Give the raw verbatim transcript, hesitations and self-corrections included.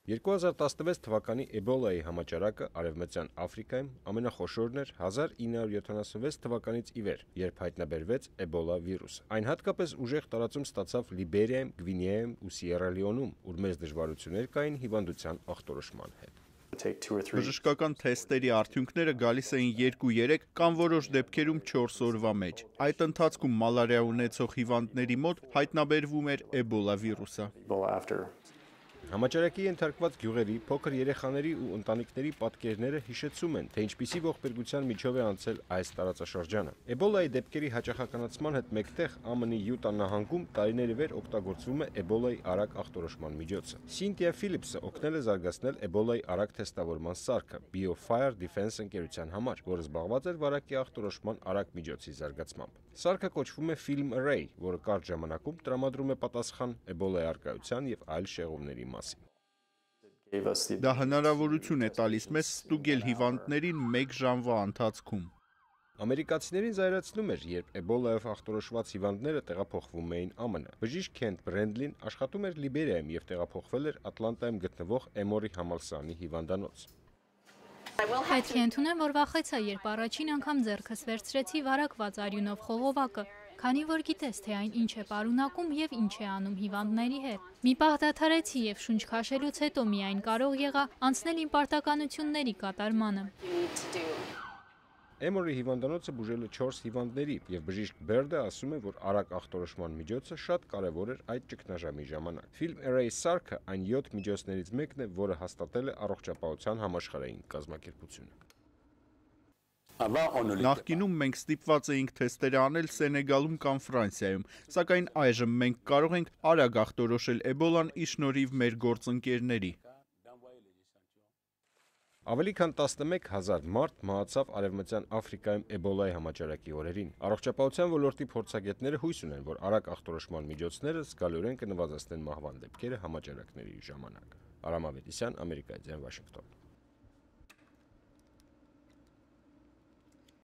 երկու հազար տասնվեց թվականի Էբոլայի համաճարակը Արևմտյան Աֆրիկայում ամենախոշորն էր հազար ինը հարյուր յոթանասունվեց թվականից ի վեր, երբ հայտնաբերվեց Էբոլա վիրուսը։ Այն հատկապես ուժեղ տարածում ստացավ Լիբերիայում, Գվինեայում ու Սիերա Լեոնեում, ուր մեծ դժվարություններ կային հիվանդության ախտորոշման հետ։ Բժշկական թեստերի արդյունքները գալիս էին երկու երեք կամ որոշ դեպքերում չորս օրվա մեջ։ Այդ ընթացքում մալարիա ունեցող հիվանդների մոտ հայտնաբերվում էր Էբոլա վիրուսը։ Համաճարակի ենթարկված գյուղերի, փոքր երեխաների ու ընտանիքների պատկերները հիշեցում են, թե ինչպիսի ողբերգության միջով է անցել այս տարածաշրջանը։ Էբոլայի դեպքերի հաճախականացման հետ մեկտեղ Ամենի Յուտա նահանգում տարիներ ի վեր օգտագործվում է Էբոլայի արագ ախտորոշման միջոցը։ Սինթիա Ֆիլիպսը օգնել է զարգացնել Էբոլայի արագ թեստավորման սարքը BioFire Defense ընկերության համար, որը զբաղված էր վարակի ախտորոշման արագ միջոցի զարգացմամբ։ Սարքը կոչվում է Film Array, որը կարճ ժամանակում տրամադրում է պատասխան Էբոլայի առկայության եւ այլ շեղումների մասին։ Դա հնարավորություն է տալիս մեզ ստուգել հիվանդներին մեկ ժամվա ընթացքում։ Ամերիկացիներին զայրացնում էր, երբ Էբոլայով ախտորոշված հիվանդները տեղափոխվում էին ԱՄՆ։ Բժիշկ Քենթ Բրենդլին աշխատում էր Լիբերիայում եւ տեղափոխվել էր Ատլանտայում գտնվող Էմորի համալսարանի հիվանդանոց։ Պետք է ընդունեմ, որ վախեցա, երբ առաջին անգամ ձեռքս վերցրեցի վարակված արյունով խողովակը, քանի որ գիտես, թե այն ինչ է պարունակում եւ ինչ է անում հիվանդների հետ։ Մի պահ դադարեցի եւ շունչ քաշելուց հետո միայն կարող եղա անցնել իմ պարտականությունների կատարմանը։ Էմորի հիվանդանոցը բուժել է չորս հիվանդների, եւ բժիշկ Բերդը ասում է, որ արագ ախտորոշման միջոցը շատ կարեւոր էր այդ ճգնաժամի ժամանակ։ Film Array սարքը այն յոթ միջոցներից մեկն է, որը հաստատել է Առողջապահության համաշխարհային կազմակերպությունը։ Նախկինում մենք ստիպված էինք թեստեր անել Սենեգալում կամ Ֆրանսիայում, սակայն այժմ մենք կարող ենք արագ ախտորոշել Էբոլան ի շնորհիվ մեր գործընկերների։ Ավելի քան տասնմեկ հազար մարդ մահացավ Արևմտյան Աֆրիկայում Էբոլայի համաճարակի օրերին։ Առողջապահության ոլորտի փորձագետները հույս ունեն, որ արագ ախտորոշման միջոցները զգալիորեն կնվազեցնեն մահվան դեպքերը համաճարակների ժամանակ։ Արամ Ավետիսյան, Ամերիկայից Վաշինգտոն։